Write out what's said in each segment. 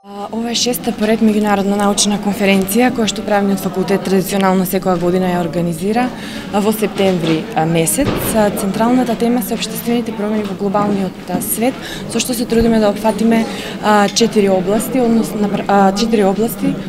Ова е шеста поред меѓународна научна конференција која што правниот факултет традиционално секоја година ја организира во септември месец. Централната тема се општествените промени во глобалниот свет, со што се трудиме да опфатиме четири области,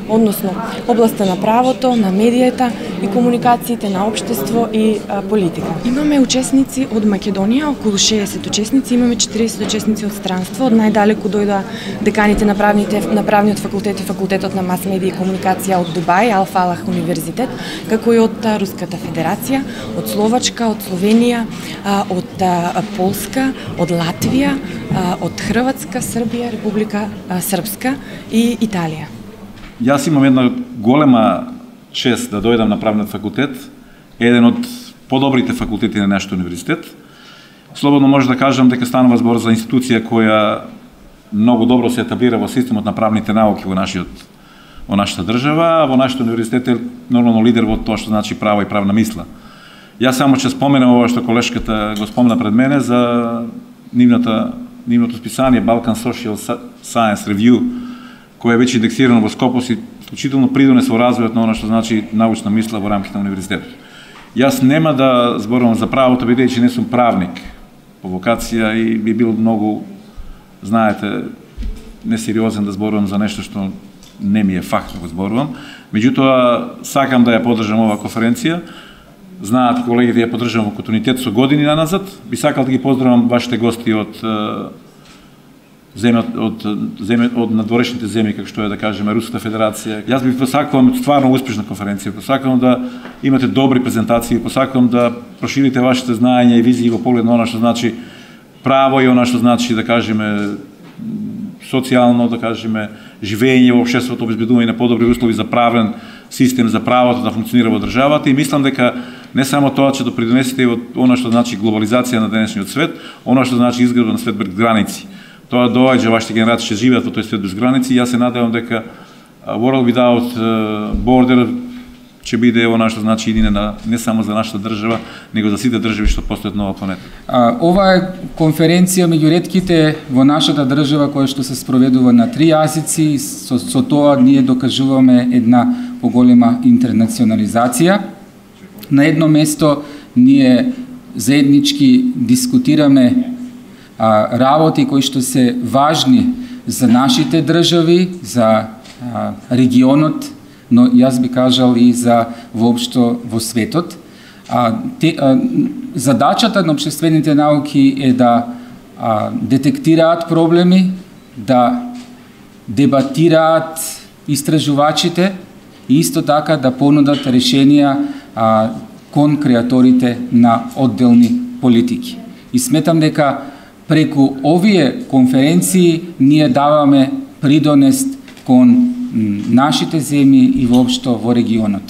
односно областа на правото, на медијата и комуникациите, на општество и политика. Имаме учесници од Македонија, околу 60 учесници, имаме 40 учесници од странство, од најдалеку дојдоа деканите на правниот факултет и факултетот на мас медија и комуникација од Дубај, Ал Фалах универзитет, како и од Руската федерација, од Словачка, од Словенија, од Полска, од Латвија, од Хрватска, Србија, Република Српска и Италија. Јас имам една голема чест да дојдам на правниот факултет, еден од подобрите факултети на нашиот универзитет. Слободно може да кажам дека станува збор за институција која многу добро се етаблира во системот на правните науки во нашата држава, а во нашиот универзитет е нормално лидер во тоа што значи право и правна мисла. Јас само ќе споменам ова што колешката го спомна пред мене за нивното списание Balkan Social Science Review, кој е веќе индексирано во Скопос и вклучително придонес во развојот на она што значи научна мисла во рамките на универзитетот. Јас нема да зборувам за правото, бидејќи не сум правник по вокација и би бил многу, знаете, несериозен да зборувам за нешто што не ми е факт да го зборувам. Меѓутоа, сакам да ја поддржам оваа конференција. Знаат колегите ја поддржам во континуитет со години назад. Би сакал да ги поздравам вашите гости од надворешните земји, како што е да кажеме Руската федерација. Јас би посакувам стварно успешна конференција, посакувам да имате добри презентации, посакувам да проширите вашите знаења и визии во поглед на она што значи право и она што значи да кажеме социјално, да кажеме живење во општеството, обезбедување на подобри услови за правен систем за правото да функционира во државата и мислам дека не само тоа ќе допринесете и од она што значи глобализација на денешниот свет, она што значи изградба на свет без граници. Тоа доаѓа, вашите генерации ќе живеат во тој свет без граници и јас се надевам дека World Without Border ќе биде она што значи идена не само за нашата држава, него за сите држави што постојат на оваа планета. Ова е конференција меѓу ретките во нашата држава која што се спроведува на 3 јазици и со тоа ние докажуваме една поголема интернационализација. На едно место ние заеднички дискутираме работи кои што се важни за нашите држави, за регионот, но јас би кажал и за воопшто во светот. Задачата на општествените науки е да детектираат проблеми, да дебатираат истражувачите и исто така да понудат решенија кон креаторите на одделни политики. И сметам дека преку овие конференции ние даваме придонес кон нашите земји и воопшто во регионот.